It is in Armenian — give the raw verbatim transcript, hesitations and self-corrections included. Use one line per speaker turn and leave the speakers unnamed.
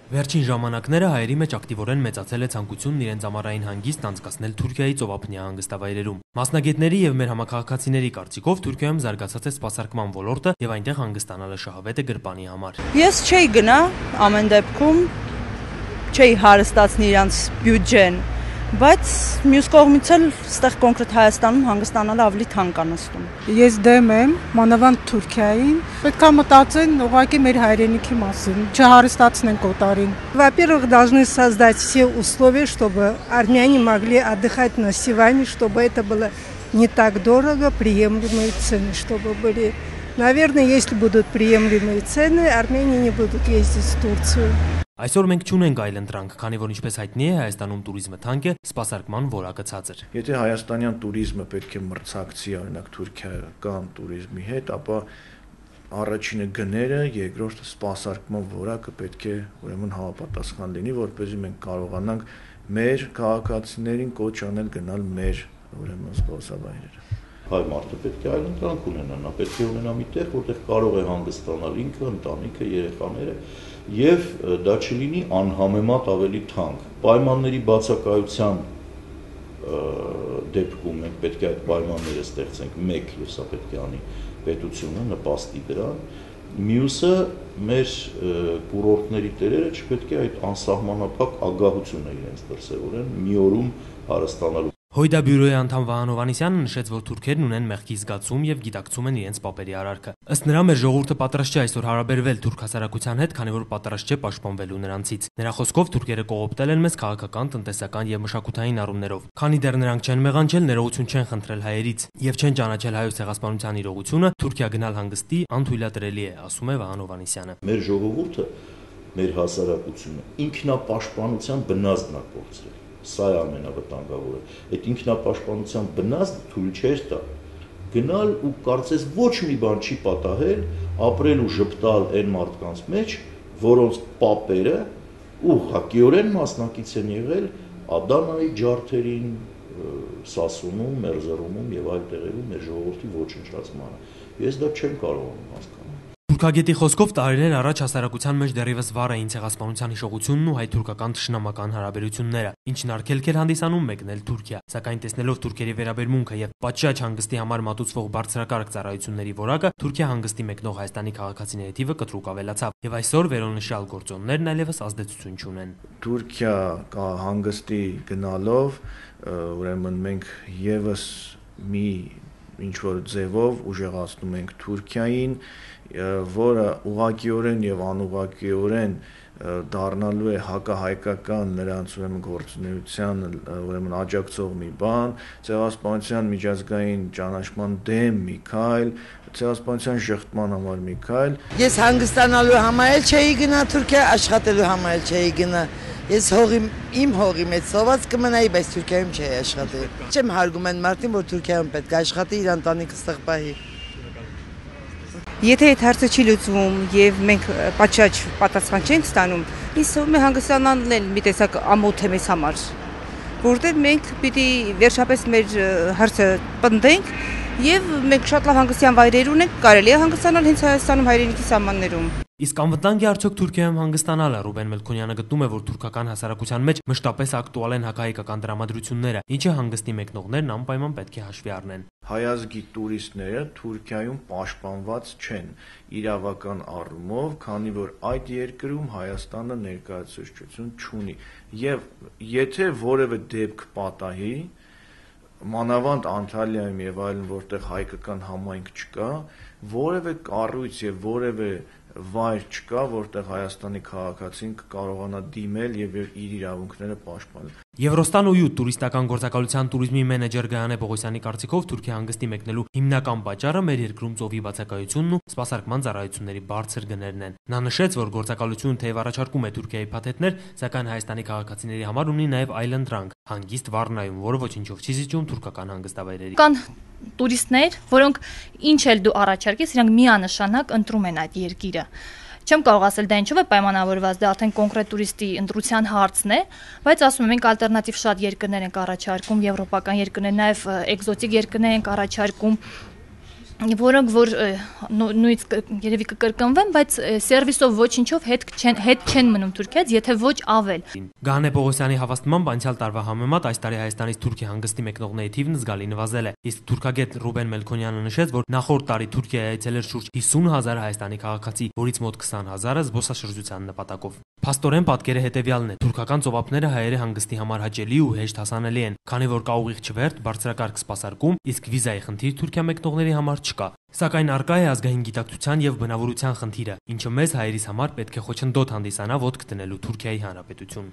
Վերջին ժամանակները հայերի մեջ ակտիվորեն մեծացել է ցանկությունն իրենց ամառային հանգիստն անցկացնել Թուրքիայի ծովափնյա հանգստավայրերում։ Մասնագետների եւ մեր համակարգացիների կարծիքով Թուրքիայում զարգացած է սպասարկման ոլորտը եւ այնտեղ հանգստանալը շահավետ է գրպանի համար։
Ես չէի գնա ամեն դեպքում, չէի հարստացնի իրանց բյուջեն, բայց մյուս կողմից էլ այստեղ կոնկրետ Հայաստանում հանգստանալը ավելի թանկ է նստում։
Ես դեմ եմ մանավանդ Թուրքիային, պետք է մտածեն ուղղակի մեր հայրենիքի մասին, չհարստացնեն կոտարին։
Во-первых, должны создать все условия, чтобы армяне могли отдыхать на Сиване, чтобы это было не так дорого, приемлемые цены, чтобы были. Наверное, если будут приемлемые цены, армяне не будут ездить в Турцию.
Այսօր մենք չունենք այլ ընտրանք, քանի որ ինչպես հայտնի է, Հայաստանում տուրիզմը թանկ է, սպասարկման որակը ցածր։
Եթե հայաստանյան տուրիզմը պետք է մրցակցի օրինակ թուրքիական տուրիզմի հետ, ապա առաջինը գները, երկրորդը սպասարկման որակը պետք է ուրեմն համապատասխան լինի, որպեսզի մենք կարողանանք մեր քաղաքացիներին կոչ անել գնալ մեր ուրեմն սպասավայրերը։
Հայ մարդը պետք է այլ ընտրանք ունենա, նա պետք է ունենա մի տեղ, որտեղ կարող է հանգստանալ ինքը, ընտանիքը, երեխաները, եւ դա չլինի անհամեմատ ավելի թանկ։ Պայմանների բացակայության դեպքում մենք պետք է այդ պայմանները ստեղծենք, մեկ եւ սա պետք է անի պետությունը նպաստի դրան։ Մյուսը մեր կուրորտների տերերը չպետք է այդ անսահմանափակ ագահությունը իրենց դրսևորեն մի օրում հարստանալու։
Հույդա բյուրոյի անդամ Վահան Հովհաննիսյանը նշեց, որ թուրքերն ունեն մեղքի զգացում եւ գիտակցում են իրենց պապերի արարքը։ Ըստ նրա, մեր ժողովուրդը պատրաստ չէ այսօր հարաբերվել թուրք հասարակության հետ, քանի որ պատրաստ չէ պաշտպանվելու նրանցից։ Նրա խոսքով թուրքերը կողոպտել են մեզ քաղաքական, տնտեսական եւ մշակութային առումներով։ Քանի դեռ նրանք չեն մեղանչել, ներողություն չեն խնդրել հայերից եւ չեն ճանաչել հայոց ցեղասպանության իրողությունը, Թուրքիա գնալ հանգստի անթույլատրելի է, ասում է Վահան Հովհաննիսյանը։
Մեր ժողովուրդը, մեր հասարակությունը ինքնապաշտպանության բնազդն է կորցրել։ Սա է ամենավտանգավորը։ Այդ ինքնապաշտպանության բնազդը թույլ չէր տա գնալ ու կարծես ոչ մի բան չի պատահել, ապրել ու ժպտալ այն մարդկանց մեջ, որոնց պապերը ուղղակիորեն մասնակից են եղել Ադանայի ջարդերին, Սասունում, Մերզերումում եւ այլ տեղերում մեր ժողովրդի ոչնչացմանը։ Ես դա չեմ կարողանում հասկանալ։
Թուրքագետի խոսքով տարիներ առաջ հասարակության մեջ դեռևս վառ էին ցեղասպանության հիշողությունն ու հայ-թուրքական թշնամական հարաբերությունները, ինչն արգելք էր հանդիսանում մեկնել Թուրքիա, սակայն տեսնելով թուրքերի վերաբերմունքը եւ պատշաճ հանգստի համար մատուցվող բարձրակարգ ծառայությունների որակը, Թուրքիա հանգստի մեկնող Հայաստանի քաղաքացիների թիվը կտրուկ ավելացավ եւ այսօր վերոնշյալ գործոններն այլևս ազդեցություն չունեն։
Թուրքիա հանգստի գնալով ուրեմն մենք եւս մի ինչ որ ձևով ուժեղացնում ենք Թուրքիային, որը ուղղակիորեն եւ անուղղակիորեն դառնալու է հակահայկական նրանց ուրեմն գործունեության ուրեմն աջակցող մի բան, ցեղասպանության միջազգային ճանաչման դեմ մի քայլ, ցեղասպանության շղթման համար մի քայլ։
Ես հանգստանալու համար էլ չէի գնա Թուրքիա, աշխատելու համար էլ չէի գնա։ Ես հողի իմ հողի մեջ սոված կմնայի, բայց Թուրքիայում չէի աշխատել։ Չեմ հարգում այն մարդին, որ Թուրքիայում պետք է աշխատի, իր ընտանիքը ստեղ պահի։
Եթե այդ հարցը չի լուծվում եւ մենք պատշաճ պատասխան չենք ստանում, ինձ թվում է հանգստանալն էլ մի տեսակ ամոթ է մեզ համար, որտեղ մենք պիտի վերջապես մեր հարցը պնդենք եւ մենք շատ լավ հանգստյան վայրեր ունենք, կարելի է հանգստանալ հենց Հայաստանում հայրենիքի սահմաններում։
Իսկ անվտանգ է արդյոք Թուրքիայում հանգստանալը։ Ռուբեն Մելքոնյանը գտնում է, որ թուրքական հասարակության մեջ մշտապես ակտուալ են հակահայկական դրամատրությունները, ինչը հանգստի մեկնողներն անպայման պետք է հաշվի առնեն։
Հայազգի տուրիստները Թուրքիայում պաշտպանված չեն իրավական առումով, քանի որ այդ երկրում Հայաստանը ներկայացուցչություն չունի։ Եվ եթե որևէ դեպք պատահի, մանավանդ Անտալիայում եւ այլն, որտեղ հայկական համայնք չկա, որևէ կառույց եւ որևէ վայր չկա, որտեղ Հայաստանի քաղաքացին կկարողանա դիմել եւ իր իրավունքները պաշտպանել։
Եվրոստան ու տուրիստական գործակալության տուրիզմի մենեջեր Գայանե Պողոսյանի կարծիքով Թուրքիա հանգստի մեկնելու հիմնական պատճառը մեր երկրում ծովի բացակայությունն ու սպասարկման ծառայությունների բարձր գներն են։ Նա նշեց, որ գործակալությունը թեև առաջարկում է Թուրքիայի փաթեթներ, սակայն Հայաստանի քաղաքացիների համար ունի նաեւ այլ ընտրանք՝ հանգիստ Վառնայում, որը ոչինչով չի զիջում թուրքական հանգստավայրերի։
Կան տուրիստներ, որոնք ինչ էլ դու առաջարկես, իրանք միանշանակ ընտրում են այդ երկիրը։ Չեմ կարող ասել դա ինչով է պայմանավորված, դա արդեն կոնկրետ տուրիստի ընտրության հարցն է, բայց ասում եմ, մենք ալտերնատիվ շատ երկրներ ենք առաջարկում, եվրոպական երկրներ, նաև էկզոտիկ երկրներ ենք առաջարկում, որոնք որ նույնից երևի կկրկնվեն, բայց սերվիսով ոչինչով հետ չեն հետ չեն մնում Թուրքիայից, եթե ոչ ավել։
Գահանե Պողոսյանի հավաստմամբ անցյալ տարվա համեմատ այս տարի Հայաստանից Թուրքիա հանգստի մեկնողների թիվն զգալի նվազել է։ Իսկ թուրքագետ Ռուբեն Մելքոնյանը նշեց, որ նախորդ տարի Թուրքիայի այցելել շուրջ հիսուն հազար հայաստանի քաղաքացի, որից մոտ քսան հազարը զբոսաշրջության նպատակով։ Փաստորեն պատկերը հետևյալն է. թուրքական ծովափները հայերի հանգստի համար հաճելի ու հեշտ հասանելի են, քանի որ կա ուղիղ չվերթ, բարձրակարգ սպասարկում, իսկ վիզայի խնդիր Թուրքիա մեկնողների համար չկա։ Սակայն առկա է ազգային գիտակցության եւ բնավորության խնդիրը, ինչը մեզ հայերիս համար պետք է խոչընդոտ հանդիսանա ոտք դնելու Թուրքիայի Հանրապետություն։